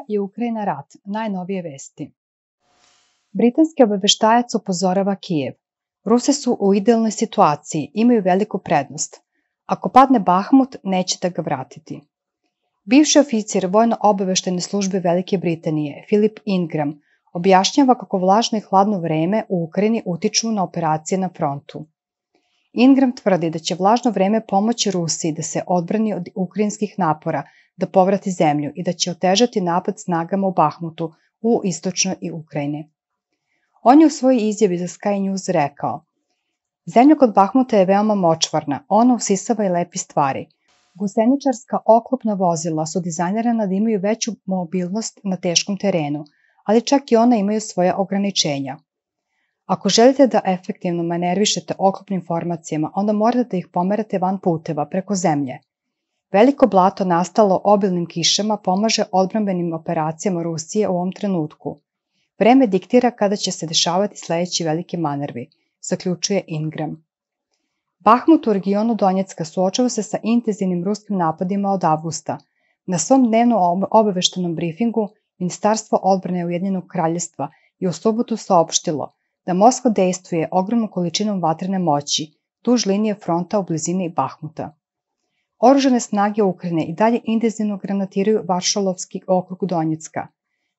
i Ukrajina rat, najnovije vesti. Britanski obaveštajac upozorava Kijev. Rusi su u idealnoj situaciji, imaju veliku prednost. Ako padne Bahmut, neće da ga vratiti. Bivši oficir vojno-obaveštajne službe Velike Britanije, Philip Ingram, objašnjava kako vlažno i hladno vreme u Ukrajini utiču na operacije na frontu. Ingram tvrdi da će vlažno vreme pomoći Rusiji da se odbrani od ukrajinskih napora, da povrati zemlju i da će otežati napad snagama u Bahmutu u istočnoj i Ukrajini. On je u svojoj izjavi za Sky News rekao: Zemlja kod Bahmuta je veoma močvarna, ona usisava i lepi stvari. Guseničarska oklopna vozila su dizajnirana da imaju veću mobilnost na teškom terenu, ali čak i ona imaju svoja ograničenja. Ako želite da efektivno manervišete oklopnim formacijama, onda morate da ih pomerate van puteva, preko zemlje. Veliko blato nastalo obilnim kišama pomaže odbrambenim operacijama Rusije u ovom trenutku. Vreme diktira kada će se dešavati sledeći veliki manervi, zaključuje Ingram. Bahmut u regionu Donjecka suočava se sa intenzivnim ruskim napadima od avgusta. Na svom dnevnom obaveštenom brifingu Ministarstvo odbrane Ujedinjenog kraljevstva je u subotu saopštilo da Moskva dejstvuje ogromnom količinom vatrene moći duž linije fronta u blizini Bahmuta. Oružane snage Ukrajine i dalje intenzivno granatiraju Varšalovski okrug Donjecka.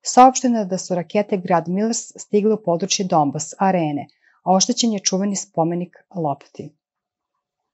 Saopšteno je da su rakete Grad Millers stigle u područje Donbas arene, a oštećen je čuveni spomenik Lopti.